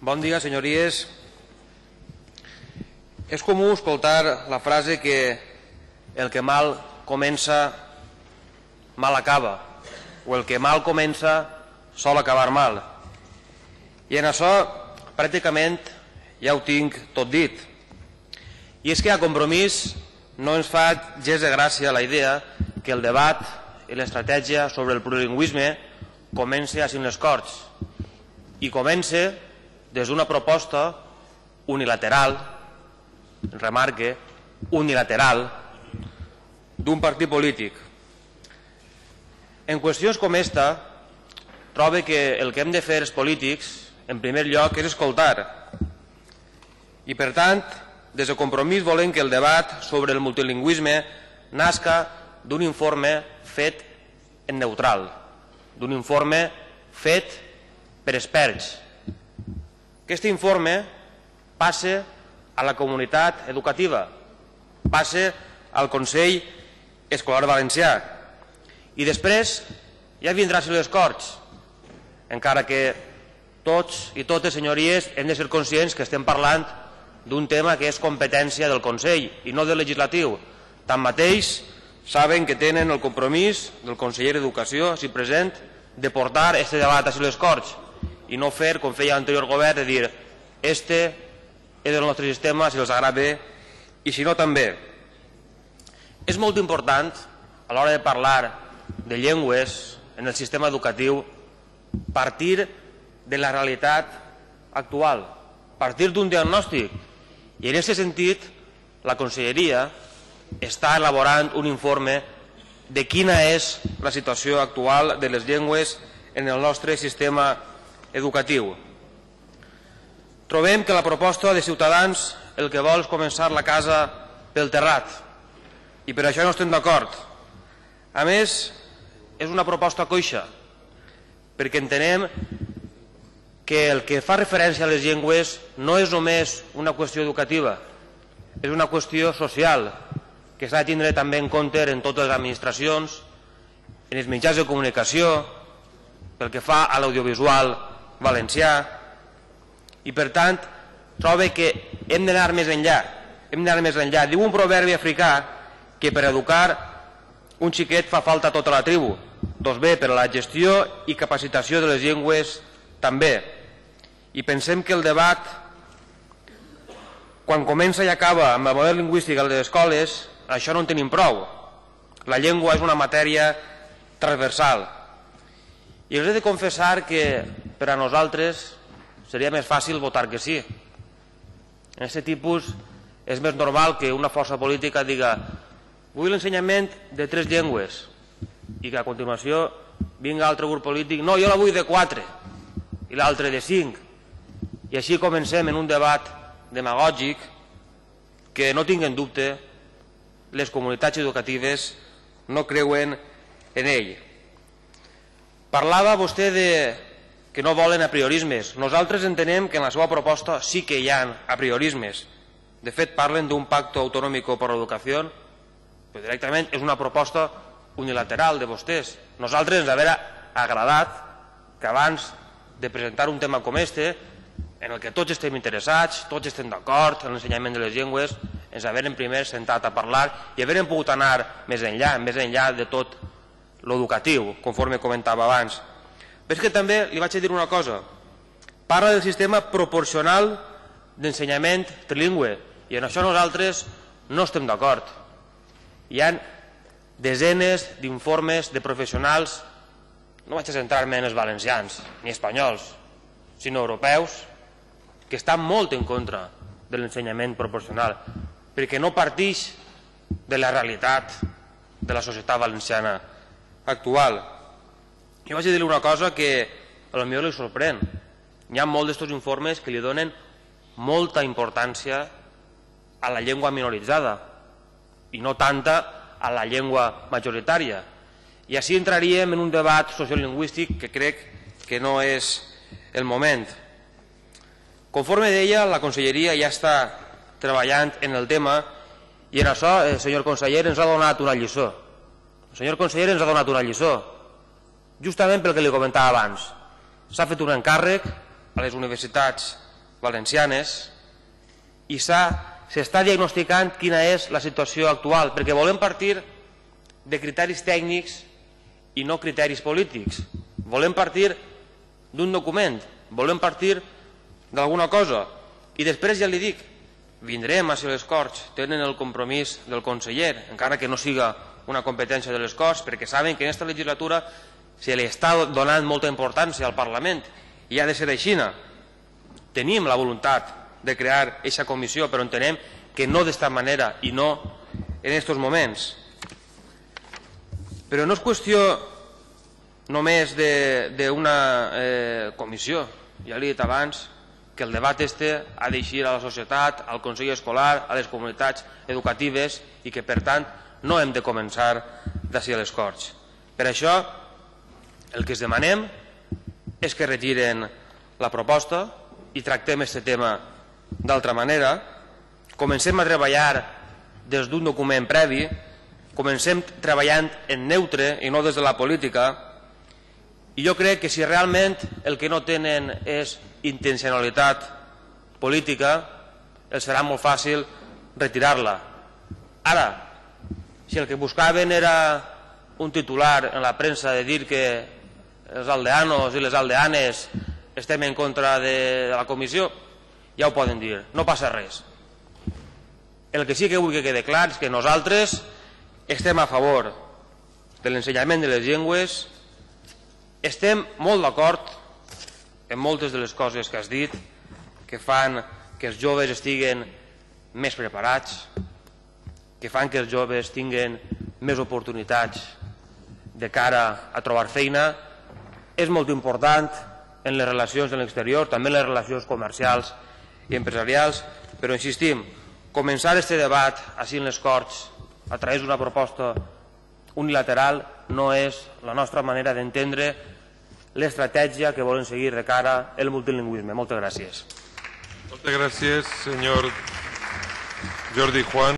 Bon dia, senyories. És comú escoltar la frase que el que mal comença, mal acaba, o el que mal comença sol acabar mal. I en això pràcticament ja ho tinc tot dit. I és que a Compromís no ens fa gens de gràcia la idea que el debat i l'estratègia sobre el plurilingüisme comença a les Corts i comença des d'una proposta unilateral, remarque, unilateral, d'un partit polític. En qüestions com esta, trobo que el que hem de fer els polítics, en primer lloc, és escoltar. I, per tant, des de Compromís volem que el debat sobre el multilingüisme nasca d'un informe fet en neutral, d'un informe fet per experts. Aquest informe passa a la comunitat educativa, passa al Consell Escolar Valencià i després ja vindrà a les Corts, encara que tots i totes, senyories, hem de ser conscients que estem parlant d'un tema que és competència del Consell i no del legislatiu. Tanmateix, saben que tenen el compromís del conseller d'Educació, així present, de portar aquest debat a les Corts i no fer, com feia l'anterior govern, de dir este és el nostre sistema, si els agrada bé, i si no també. És molt important, a l'hora de parlar de llengües en el sistema educatiu, partir de la realitat actual, partir d'un diagnòstic. I en aquest sentit, la Conselleria està elaborant un informe de quina és la situació actual de les llengües en el nostre sistema educatiu. Trobem que la proposta de Ciutadans el que vol és començar la casa pel terrat i per això no estem d'acord. A més, és una proposta coixa perquè entenem que el que fa referència a les llengües no és només una qüestió educativa, és una qüestió social que s'ha de tindre també en compte en totes les administracions, en els mitjans de comunicació, pel que fa a l'audiovisual valencià, i per tant trobo que hem d'anar més enllà. Diu un proverbi africà que per educar un xiquet fa falta tota la tribu. Doncs bé, per a la gestió i capacitació de les llengües també. I pensem que el debat, quan comença i acaba amb el model lingüístic a les escoles, això no en tenim prou. La llengua és una matèria transversal. I els he de confessar que per a nosaltres seria més fàcil votar que sí. En aquest tipus és més normal que una força política diga vull l'ensenyament de 3 llengües i que a continuació vinga altre grup polític no, jo la vull de 4 i l'altre de 5 i així comencem en un debat demagògic que no tinguen dubte les comunitats educatives no creuen en ell. Parlava vostè que no volen apriorismes. Nosaltres entenem que en la seva proposta sí que hi ha apriorismes. De fet, parlen d'un pacto autonómico por la educación, però directament és una proposta unilateral de vostès. Nosaltres ens hauria agradat que abans de presentar un tema com este, en el que tots estem interessats, tots estem d'acord en l'ensenyament de les llengües, ens haguem primer sentat a parlar i haguem pogut anar més enllà de tot l'educatiu, conforme comentava abans. Però és que també li vaig a dir una cosa. Parla del sistema proporcional d'ensenyament trilingüe i en això nosaltres no estem d'acord. Hi ha desenes d'informes de professionals, no vaig a centrar-me en els valencians ni espanyols, sinó europeus, que estan molt en contra de l'ensenyament proporcional, perquè no partix de la realitat de la societat valenciana actual. Jo vaig a dir-li una cosa que potser li sorprèn. Hi ha molts d'aquests informes que li donen molta importància a la llengua minoritzada i no tanta a la llengua majoritària. I així entraríem en un debat sociolingüístic que crec que no és el moment. Conforme deia, la Conselleria ja està treballant en el tema i en això el senyor conseller ens ha donat una lliçó. El senyor conseller ens ha donat una lliçó, justament pel que li comentava abans. S'ha fet un encàrrec a les universitats valencianes i s'està diagnosticant quina és la situació actual, perquè volem partir de criteris tècnics i no criteris polítics. Volem partir d'un document, volem partir d'alguna cosa. I després ja li dic, vindrem a si les Corts tenen el compromís del conseller, encara que no siga una competència de les Corts, perquè saben que en aquesta legislatura se li està donant molta importància al Parlament i ha de ser així. Tenim la voluntat de crear aquesta comissió, però entenem que no d'esta manera i no en aquests moments. Però no és qüestió només d'una comissió. Ja li he dit abans que el debat ha d'eixir a la societat, al Consell Escolar, a les comunitats educatives i que, per tant, no hem de començar d'ací a les Corts. Per això, el que es demanem és que retiren la proposta i tractem aquest tema d'altra manera. Comencem a treballar des d'un document previ, comencem treballant en neutre i no des de la política, i jo crec que si realment el que no tenen és intencionalitat política, els serà molt fàcil retirar-la. Ara, si el que buscaven era un titular en la premsa de dir que els aldeanos i les aldeanes estem en contra de la comissió, ja ho poden dir, no passa res. El que sí que vull que quede clar és que nosaltres estem a favor de l'ensenyament de les llengües, estem molt d'acord en moltes de les coses que has dit, que fan que els joves estiguen més preparats, que fan que els joves tinguin més oportunitats de cara a trobar feina. És molt important en les relacions de l'exterior, també en les relacions comercials i empresarials, però insistim, començar aquest debat així en les Corts a través d'una proposta unilateral no és la nostra manera d'entendre l'estratègia que volen seguir de cara al multilingüisme. Moltes gràcies. Moltes gràcies, senyor Jordi Juan.